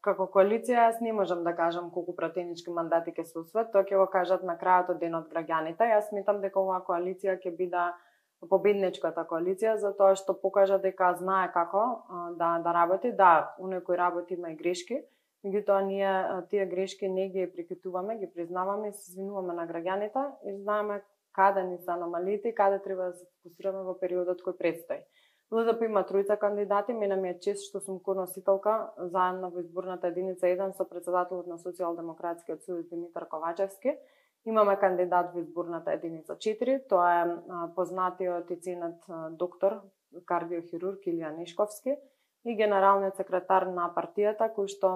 како коалиција јас не можам да кажам колку пратенички мандати ќе се освојат, тоа ќе го кажат на крајот од денот граѓаните. Јас сметам дека оваа коалиција ќе биде победничката коалиција, затоа што покажа дека знае како да работи. Да, оној кој работи има и грешки, меѓутоа ние тие грешки не ги прикитуваме, ги признаваме и се извинуваме на граѓаните и знаеме каде ни се аномалиите и каде треба да се фокусираме во периодот кој предстои. ЛДП има тројца кандидати, мене ми е чест што сум коносителка заедно во изборната единица 1 со председателот на Социјалдемократскиот сојуз Димитар Ковачевски. Имаме кандидат во изборната единица 4, тоа е познатиот и ценет доктор, кардиохирург Илија Нешковски и генералниот секретар на партијата кој што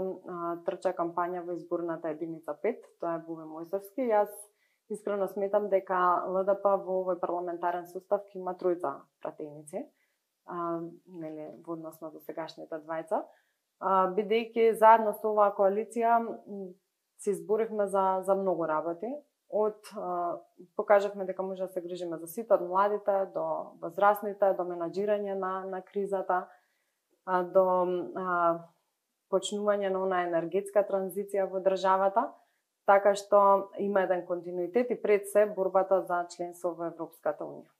трча кампања во изборната единица 5, тоа е Буве Мојсевски. Јас искрено сметам дека ЛДП во овој парламентарен состав ќе има тројца пратеници, нели, во однос на досегашните двајца, бидејќи заедно со оваа коалиција се изборевме за многу работи. Покажавме дека може да се грижиме за сите, од младите до возрастните, до менаџирање на кризата, до почнување на онаа енергетска транзиција во државата, така што има еден континуитет и пред се борбата за членство во Европската унија.